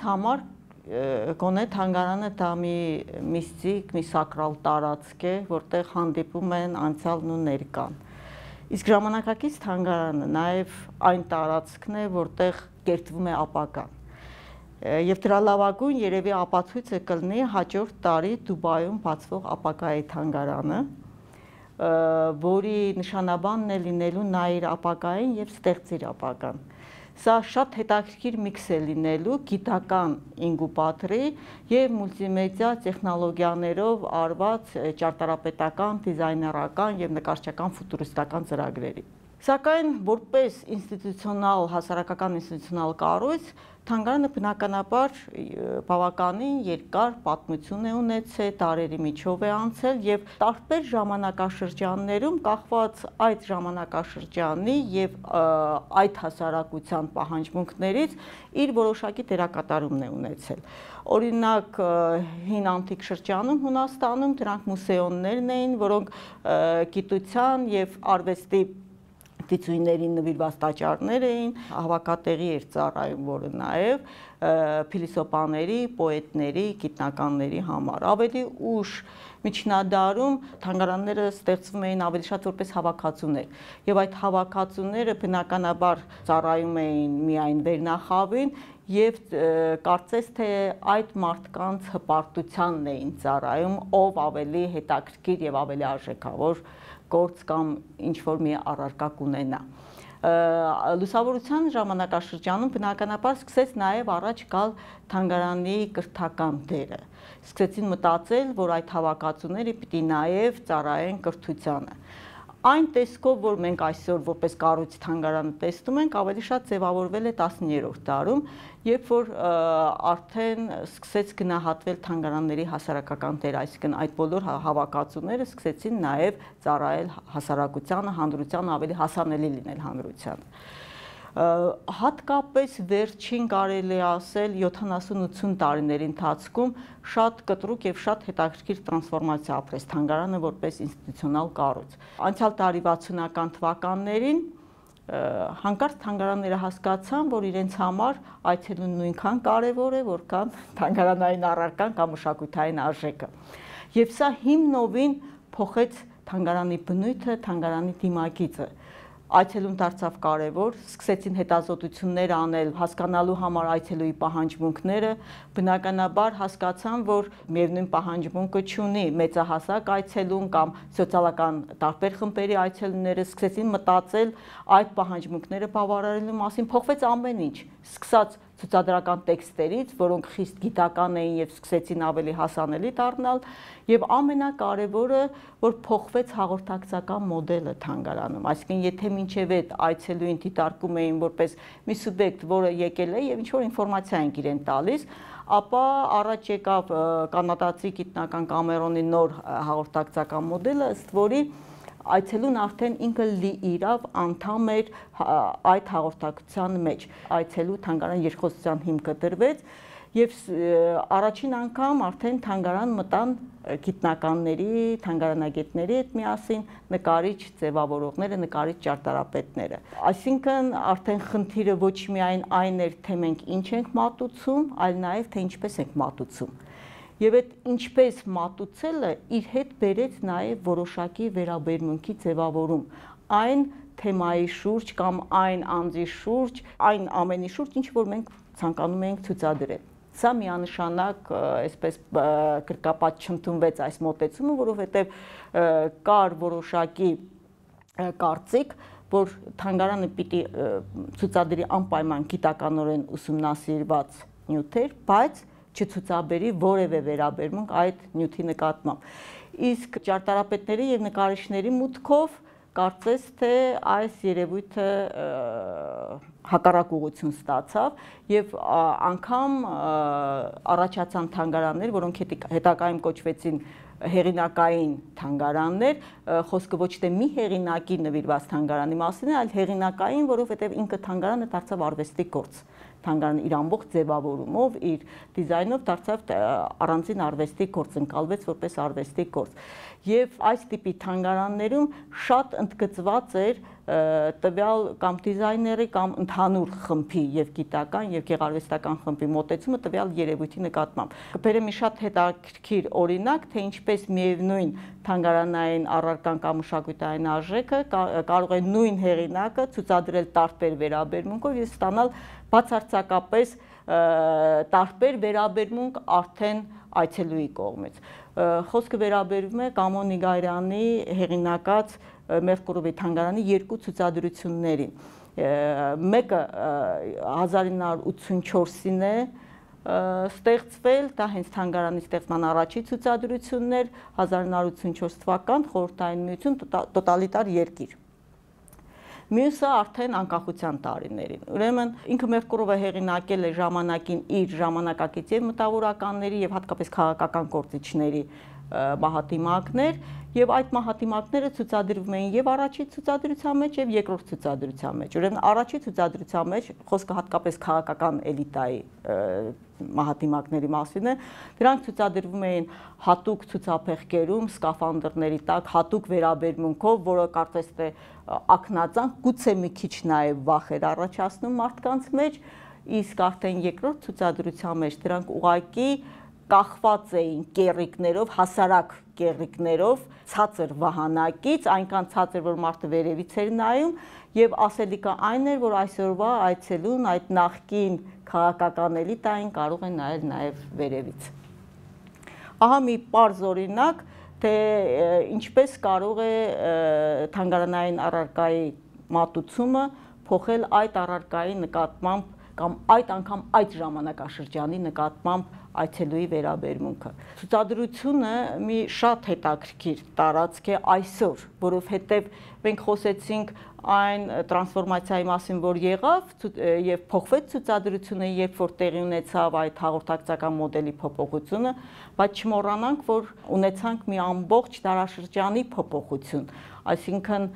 համար գոնե թանգարանը դա մի միստիկ, մի սակրալ տարածք է, որտեղ հանդիպում են անցյալն ու ներկան։ Իսկ ժամանակակից թանգարանը նաև այն տարածքն է, որտեղ կերտվում է ապագան։ Եվ դրա լավագույն երևի ապացույցը կլինի հաջորդ տարի Դուբայում բացվող ապագայի թանգարանը, որի նշանաբանն է լինելու նայիր ապագային և ստեղծիր ապագան։ Սա շատ հետաքրքիր միքս է լինելու գիտական ինկուբատորի և մուլտիմեդիա տեխնոլոգիաներով արված ճարտարապետական, դիզայներական և նկարչական ֆուտուրիստական ծրագրերի։ Սակայն որպես ինստիտուցիոնալ, հասարակական ինստիտուցիոնալ կառույց, թանգարանը բնականաբար բավականին երկար պատմություն է ունեցել, դարերի միջով է անցել և տարբեր ժամանակաշրջաններում կախված այդ ժամանակաշրջանի և այդ հասարակության պահանջմունքներից իր որոշակի դերակատարումն է ունեցել։ Օրինակ հին անտիկ շրջանում Հունաստանում դրանք մուսեոններն էին, որոնք գիտության և արվեստի դիցույներին նվիրված տաճարներ էին, հավաքատեղի էր ծառայում, որը նաև փիլիսոփաների, պոետների, գիտնականների համար։ Ավելի ուշ միջնադարում թանգարանները ստեղծվում էին ավելի շատ որպես հավաքածուներ, և այդ հավաքածուները բնականաբար ծառայում էին միայն վերնախավին և կարծես թե այդ մարդկանց հպարտությանն էին ծառայում, ով ավելի հետաքրքիր և ավելի արժեքավոր գործ կամ ինչ-որ մի առարկա կունենա։ Լուսավորության ժամանակաշրջանում բնականաբար սկսեց նաև առաջ գալ թանգարանի կրթական դերը։ Սկսեցին մտածել, որ այդ հավաքածուները պիտի նաև ծառայեն կրթությանը։ Այն տեսքով, որ մենք այսօր որպես կառույց թանգարանը տեսնում ենք, ավելի շատ ձևավորվել է 19-րդ դարում, երբ որ արդեն սկսեց գնահատվել թանգարանների հասարակական դերը, այսինքն այդ բոլոր հավաքածուները սկսեցին նաև ծառայել հասարակությանը, հանրությանը, ավելի հասանելի լինել հանրությանը։ Հատկապես վերջին կարելի է ասել 70-80 տարիների ընթացքում շատ կտրուկ և շատ հետաքրքիր տրանսֆորմացիա ապրեց թանգարանը որպես ինստիտուցիոնալ կառույց։ Անցյալ տարի 60-ական թվականներին հանկարծ թանգարանները հասկացան, որ իրենց համար այցելուն նույնքան կարևոր է, որքան թանգարանային առարկան կամ մշակութային արժեքը։ Եվ սա հիմնովին փոխեց թանգարանի բնույթը, թանգարանի դիմագիծը։ Այցելուն դարձավ կարևոր, սկսեցին հետազոտություններ անել, հասկանալու համար այցելուի պահանջմունքները, բնականաբար հասկացան, որ միևնույն պահանջմունքը չունի մեծահասակ այցելուն կամ սոցիալական տարբեր խմբերի այցելուները, սկսեցին մտածել այդ պահանջմունքները բավարարելու մասին, փոխվեց ամեն ինչ, սկսած ցուցադրական տեքստերից, որոնք խիստ գիտական էին և սկսեցին ավելի հասանելի դառնալ, և ամենակարևորը, որ փոխվեց հաղորդակցական մոդելը թանգարանում, այսինքն եթե մինչև այդ այցելուին դիտարկում էին որպես մի սուբյեկտ, որը եկել է և ինչ-որ ինֆորմացիա ենք իրեն տալիս, ապա առաջ եկավ կանադացի գիտնական Կամերոնի նոր հաղորդակցական մոդելը, ըստ որի այցելուն արդեն ինքը լիիրավ անդամ էր այդ հաղորդակցության մեջ։ Այցելու թանգարան երկխոսության հիմքը դրվեց և առաջին անգամ արդեն թանգարան մտան գիտնականների, թանգարանագետների հետ միասին նկարիչ ձևավորողները, նկարիչ ճարտարապետները։ Այսինքն արդեն խնդիրը ոչ միայն այն էր, թե մենք ինչ ենք մատուցում, այլ նաև թե ինչպես ենք մատուցում։ Եվ այդ ինչպես մատուցելը իր հետ բերեց նաև որոշակի վերաբերմունքի ձևավորում այն թեմայի շուրջ կամ այն անձի շուրջ, այն ամենի շուրջ, ինչ որ մենք ցանկանում ենք ցուցադրել։ Սա միանշանակ այսպես կրկապատ չընդունվեց այս մոտեցումը, որովհետև կար որոշակի կարծիք, որ թանգարանը պիտի ցուցադրի անպայման գիտականորեն ուսումնասիրված նյութեր, բայց չցուցաբերի որևէ վերաբերմունք այդ նյութի նկատմամբ։ Իսկ ճարտարապետների և նկարիչների մուտքով կարծես թե այս երևույթը հակառակ ուղղություն ստացավ և անգամ առաջացան թանգարաններ, որոնք հետագայում կոչվեցին հեղինակային թանգարաններ, խոսքը ոչ թե մի հեղինակի նվիրված թանգարանի մասին է, այլ հեղինակային, որովհետև ինքը թանգարանը դարձավ արվեստի գործ։ Թանգարանը իր ամբողջ ձևավորումով, իր դիզայնով դարձավ առանձին արվեստի գործ, ընկալվեց որպես արվեստի գործ։ Եվ այս տիպի թանգարաններում շատ ընդգծված էր տվյալ կամ դիզայների կամ ընդհանուր խմբի եւ գիտական եւ գեղարվեստական խմբի մոտեցումը տվյալ երևույթի նկատմամբ։ Կբերեմ մի շատ հետաքրքիր օրինակ, թե ինչպես միևնույն թանգարանային առարկան կամ մշակութային արժեքը կարող է նույն հեղինակը ցուցադրել տարբեր վերաբերմունքով եւ ստանալ բացարձակապես տարբեր վերաբերմունք արդեն այցելուի կողմից։ Խոսքը վերաբերում է Կամո Նիգարյանի հեղինակած Մերկուրովի թանգարանի երկու ցուցադրություններին։ Մեկը 1984-ին է ստեղծվել, դա հենց թանգարանի ստեղծման առաջի ցուցադրությունն էր, 1984 թվական, Խորհրդային Միություն, տոտալիտար երկիր։ Մյուսը արդեն անկախության տարիներին։ Ուրեմն ինքը Մերկուրովը հեղինակել է ժամանակին իր ժամանակակից եւ մտավորականների եւ հատկապես քաղաքական գործիչների մահատիմակներ, եւ այդ մահատիմակները ցուցադրվում էին եւ առաջի ցուցադրության մեջ եւ երկրորդ ցուցադրության մեջ։ Ուրեմն առաջի ցուցադրության մեջ խոսքը հատկապես քաղաքական էլիտայի մահատիմակների մասին է, դրանք ցուցադրվում էին հատուկ ցուցափեղկերում, սկաֆանդրների տակ, հատուկ վերաբերմունքով, որը կարծես թե ակնածանք, գուցե մի քիչ նաեւ վախ էր առաջացնում մարդկանց մեջ, իսկ արդեն երկրորդ ցուցադրության մեջ դրանք ուղղակի կախված էին կեռիկներով, հասարակ կեռիկներով, ցածր վահանակից, այնքան ցածր, որ մարդը վերևից էր նայում, եւ ասելիքը այն էր, որ այսօրվա այցելուն այդ նախկին քաղաքական էլիտային կարող է նայել նաեւ վերևից։ Ահա մի պարզ օրինակ, թե ինչպես կարող է թանգարանային առարկայի մատուցումը փոխել այդ առարկայի նկատմամբ կամ այդ անգամ այդ ժամանակաշրջանի նկատմամբ այցելուի վերաբերմունքը։ Ցուցադրությունը մի շատ հետաքրքիր տարածք է այսօր, որովհետև մենք խոսեցինք այն տրանսֆորմացիայի մասին, որ եղավ եւ փոխվեց ցուցադրությունը, երբ որ տեղի ունեցավ այդ հաղորդակցական մոդելի փոփոխությունը, բայց չմոռանանք, որ ունեցանք մի ամբողջ դարաշրջանի փոփոխություն, այսինքն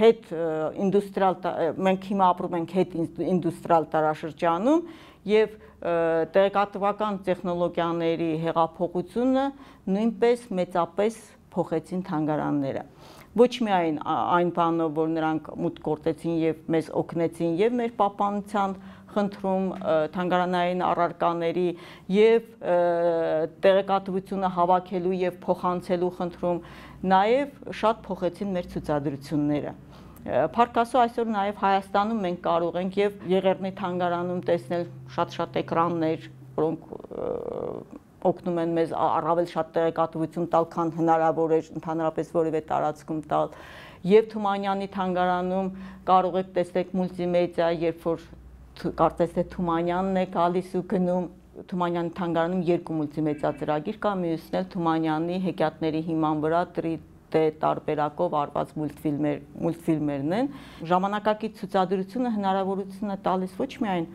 հետ ինդուստրիալ, մենք հիմա ապրում ենք հետ ինդուստրիալ դարաշրջանում եւ տեղեկատվական տեխնոլոգիաների հեղափոխությունը նույնպես մեծապես փոխեցին թանգարանները։ Ոչ միայն այն բանով, որ նրանք մուտք գործեցին եւ մեզ օգնեցին եւ մեր պահպանության խնդրում թանգարանային առարկաների եւ տեղեկատվությունը հավաքելու եւ փոխանցելու խնդրում, նաեւ շատ փոխեցին մեր ցուցադրությունները։ Փառք Աստծո, այսօր նաև Հայաստանում մենք կարող ենք եւ Եղեռնի թանգարանում տեսնել շատ էկրաններ, որոնք օգնում են մեզ առավել շատ տեղեկատվություն տալ, քան հնարավոր է ընդհանրապես որևէ տարածքում տալ։ Եվ Թումանյանի թանգարանում կարող եք տեսնել մուլտիմեդիա, երբ որ կարծես թե Թումանյանն է գալիս ու գնում, Թումանյանի թանգարանում երկու մուլտիմեդիա ծրագիր կա, մյուսն էլ Թումանյանի հեքիաթների հիման վրա տարբերակով արված մուլտֆիլմերն են։ Ժամանակակից ցուցադրությունը հնարավորություն է տալիս ոչ միայն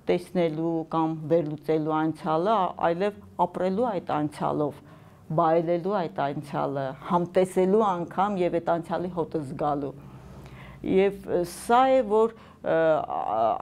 տեսնելու կամ վերլուծելու անցյալը, այլև ապրելու այդ անցյալով, բայելելու այդ անցյալը, համտեսելու անգամ եւ այդ անցյալի հոտը զգալու։ Եվ սա է, որ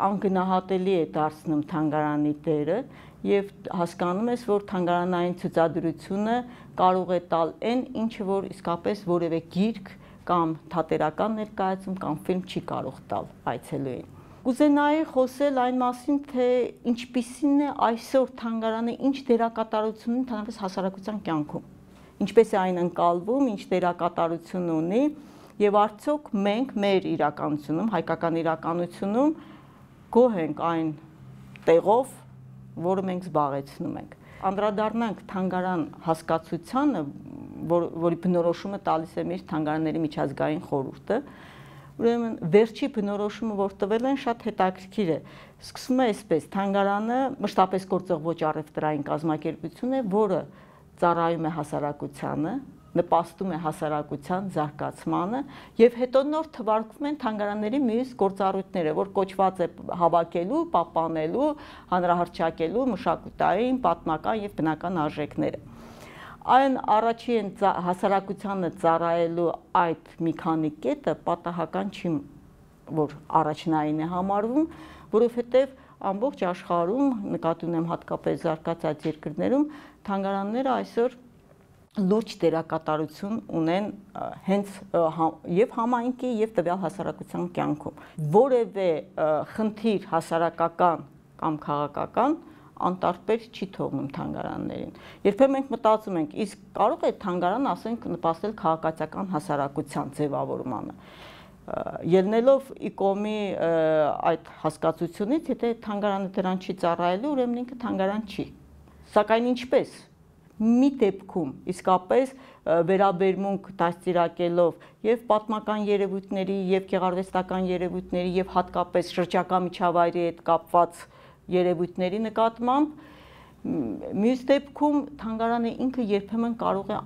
անգնահատելի է դարձնում թանգարանի դերը եւ հասկանում ես, որ թանգարանային ցուցադրությունը կարող է տալ այն, ինչը որ իսկապես որևէ գիրք կամ թատերական ներկայացում կամ ֆիլմ չի կարող տալ այցելուին։ Կուզենայի խոսել այն մասին, թե ինչպիսին է այսօր թանգարանը, ինչ դերակատարություն ունի ընդհանրապես հասարակության կյանքում, ինչպես է այն ընկալվում, ինչ դերակատարություն ունի եւ արդյոք մենք մեր իրականությունում, հայկական իրականությունում գոհ ենք այն տեղով, որը մենք զբաղեցնում ենք։ Անդրադառնանք թանգարան հասկացությանը, որի բնորոշումը տալիս է մեր թանգարանների միջազգային խորհուրդը, ուրեմն վերջի բնորոշումը, որ տվել են, շատ հետաքրքիր է։ Սկսվում է այսպես. թանգարանը մշտապես գործող ոչ առևտրային կազմակերպություն է, որը ծառայում է հասարակությանը, նպաստում է հասարակության զարգացմանը եւ հետո նոր թվարկվում են թանգարանների մյուս գործառույթները, որ կոչված է հավաքելու, պահպանելու, հանրահռչակելու մշակութային, պատմական եւ բնական արժեքները։ Այն առաջի հասարակությանը ծառայելու այդ մի քանի կետը պատահական չի, որ առաջնային է համարվում, որովհետեւ ամբողջ աշխարհում, նկատի ունեմ հատկապես զարգացած երկրներում, թանգարանները այսօր լուրջ դերակատարություն ունեն հենց եւ համայնքի եւ տվյալ հասարակության կյանքում։ Որևէ խնդիր հասարակական կամ քաղաքական անտարբեր չի թողնում թանգարաններին։ Երբեմն մենք մտածում ենք, իսկ կարող է թանգարանը, ասենք, նպաստել քաղաքացիական հասարակության ձևավորմանը։ Ելնելով ԻԿՕՄ-ի այդ հասկացությունից, եթե թանգարանը դրան չի ծառայելու, ուրեմն ինքը թանգարան չի։ Սակայն ինչպես մի դեպքում իսկապես վերաբերմունք դաստիարակելով եւ պատմական երևույթների եւ գեղարվեստական երևույթների եւ հատկապես շրջակա միջավայրի հետ կապված երևույթների նկատմամբ, մյուս դեպքում թանգարանը ինքը երբեմն կարող է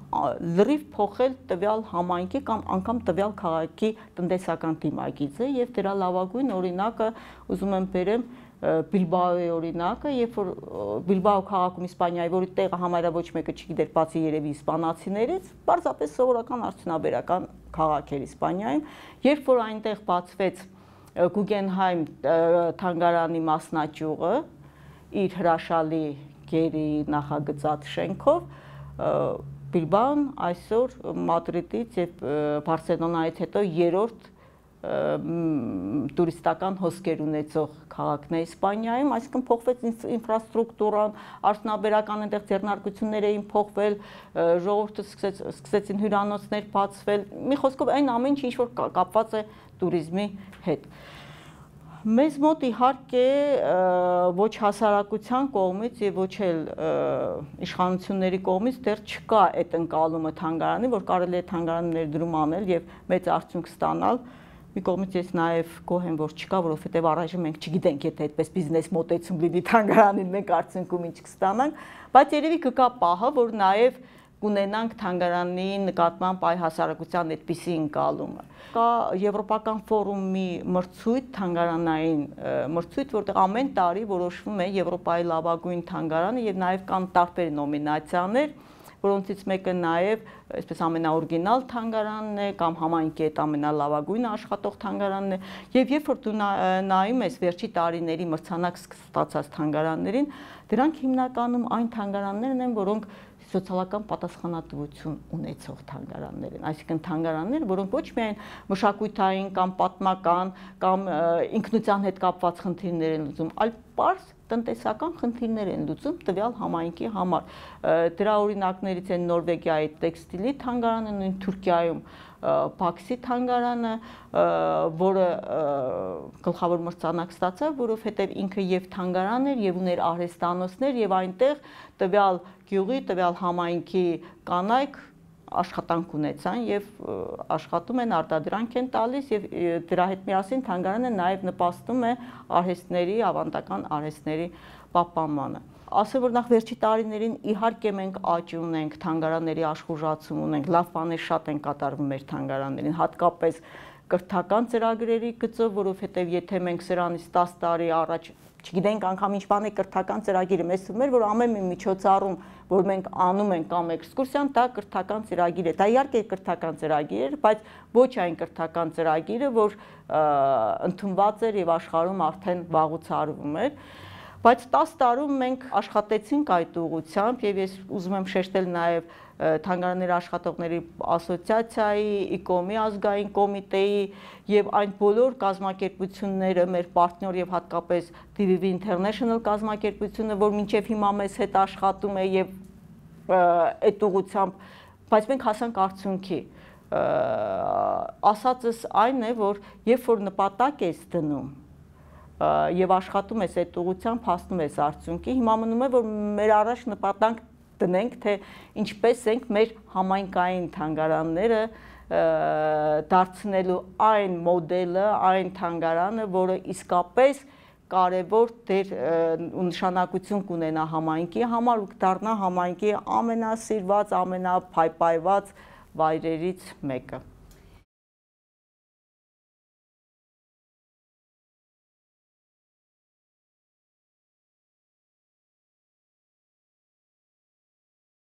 լրիվ փոխել տվյալ համայնքի կամ անգամ տվյալ քաղաքի տնտեսական դիմագիծը եւ դրա լավագույն օրինակը ուզում եմ բերեմ Բիլբաոյի օրինակը, երբ որ Բիլբաո քաղաքում Իսպանիայի, որի տեղը համարյա ոչ մեկը չգիտեր, բացի երևի իսպանացիներից, պարզապես սովորական արդյունաբերական քաղաք էր Իսպանիայում, երբ որ այնտեղ բացվեց Գուգենհայմ թանգարանի մասնաճյուղը իր հրաշալի գերի նախագծած շենքով, Բիլբաոն այսօր Մադրիդից եւ Բարսելոնայից հետո երրորդ տուրիստական հոսքեր ունեցող քաղաքն է Իսպանիայում, այսինքն փոխվեց ինֆրաստրուկտուրան, արդյունաբերական այնտեղ ձեռնարկություններ էին փոխվել, ժողովուրդը սկսեցին հյուրանոցներ բացվել, մի խոսքով այն ամեն ինչ որ կապված է տուրիզմի հետ։ Մեզ մոտ իհարկե ոչ հասարակության կողմից եւ ոչ էլ իշխանությունների կողմից դեռ չկա այդ ընկալումը թանգարանի, որ կարելի է թանգարանի ներդրում անել եւ մեծ արդյունք ստանալ։ Մի կողմից ես նաև գոհ եմ, որ չկա, որովհետև առայժմ մենք չգիտենք, եթե այդպես բիզնես մոտեցում լինի թանգարանին, մենք արդյունքում ինչ կստանանք, բայց երևի կգա պահը, որ նաև կունենանք թանգարանի նկատմամբ այ հասարակության այդպիսի ընկալումը։ Կա Եվրոպական ֆորումի մրցույթ, թանգարանային մրցույթ, որտեղ ամեն տարի որոշվում է Եվրոպայի լավագույն թանգարանը եւ նաև կան տարբեր նոմինացիաներ, որոնցից մեկը նաև այսպես ամենաօրիգինալ թանգարանն է կամ համայնքի հետ ամենալավագույնը աշխատող թանգարանն է եւ երբ որ դու նայում ես վերջի տարիների մրցանակ ստացած թանգարաններին, դրանք հիմնականում այն թանգարաններն են, որոնք սոցիալական պատասխանատվություն ունեցող թանգարաններ են, այսինքն թանգարաններ, որոնք ոչ միայն մշակութային կամ պատմական կամ ինքնության հետ կապված խնդիրներ են լուծում, այլ պարզ տնտեսական խնդիրներ են լուծում տվյալ համայնքի համար։ Դրա օրինակներից են Նորվեգիայի տեքստիլի թանգարանը, նույն Թուրքիայում Բաքսի թանգարանը, որը գլխավոր մրցանակ ստացավ, որովհետև ինքը եւ թանգարան էր եւ ուներ արհեստանոցներ եւ այնտեղ տվյալ գյուղի, տվյալ համայնքի կանայք աշխատանք ունեցան եւ աշխատում են, արտադրանք են տալիս եւ դրա հետ միասին թանգարանը նաեւ նպաստում է արհեստների, ավանդական արհեստների պահպանմանը։ Ասեմ, որ նախ վերջի տարիներին իհարկե մենք աճ ունենք, թանգարանների աշխուժացում ունենք, լավ բաներ շատ են կատարվում մեր թանգարաններին, հատկապես կրթական ծրագրերի գծով, որովհետև եթե մենք սրանից 10 տարի առաջ չգիտենք անգամ ինչ բան է կրթական ծրագիրը, մեզ թվում էր, որ ամեն մի միջոցառում, որ մենք անում ենք կամ էքսկուրսիան, դա կրթական ծրագիր է։ Դա իհարկե կրթական ծրագիր էր, բայց ոչ այն կրթական ծրագիրը, որ ընդունված էր եւ աշխարհում արդեն վաղուց արվում էր։ Բայց 10 տարում մենք աշխատեցինք այդ ուղղությամբ եւ ես ուզում եմ շեշտել նաեւ թանգարանների աշխատողների ասոցիացիայի, ԻԿՕՄ-ի ազգային կոմիտեի եւ այն բոլոր կազմակերպությունները, մեր պարտներ եւ հատկապես DVV International կազմակերպությունը, որ մինչեւ հիմա մեզ հետ աշխատում է եւ այդ ուղղությամբ, բայց մենք հասանք արդյունքի։ Ասածս այն է, որ երբ որ նպատակ ես դնում եւ աշխատում ես այդ ուղղությամբ, հասնում ես արդյունքի, հիմա մնում է, որ մեր առաջ նպատակ դնենք, թե ինչպես ենք մեր համայնքային թանգարանները դարձնելու այն մոդելը, այն թանգարանը, որը իսկապես կարևոր դեր ու նշանակություն կունենա համայնքի համար ու կդառնա համայնքի ամենասիրված, ամենափայփայված վայրերից մեկը։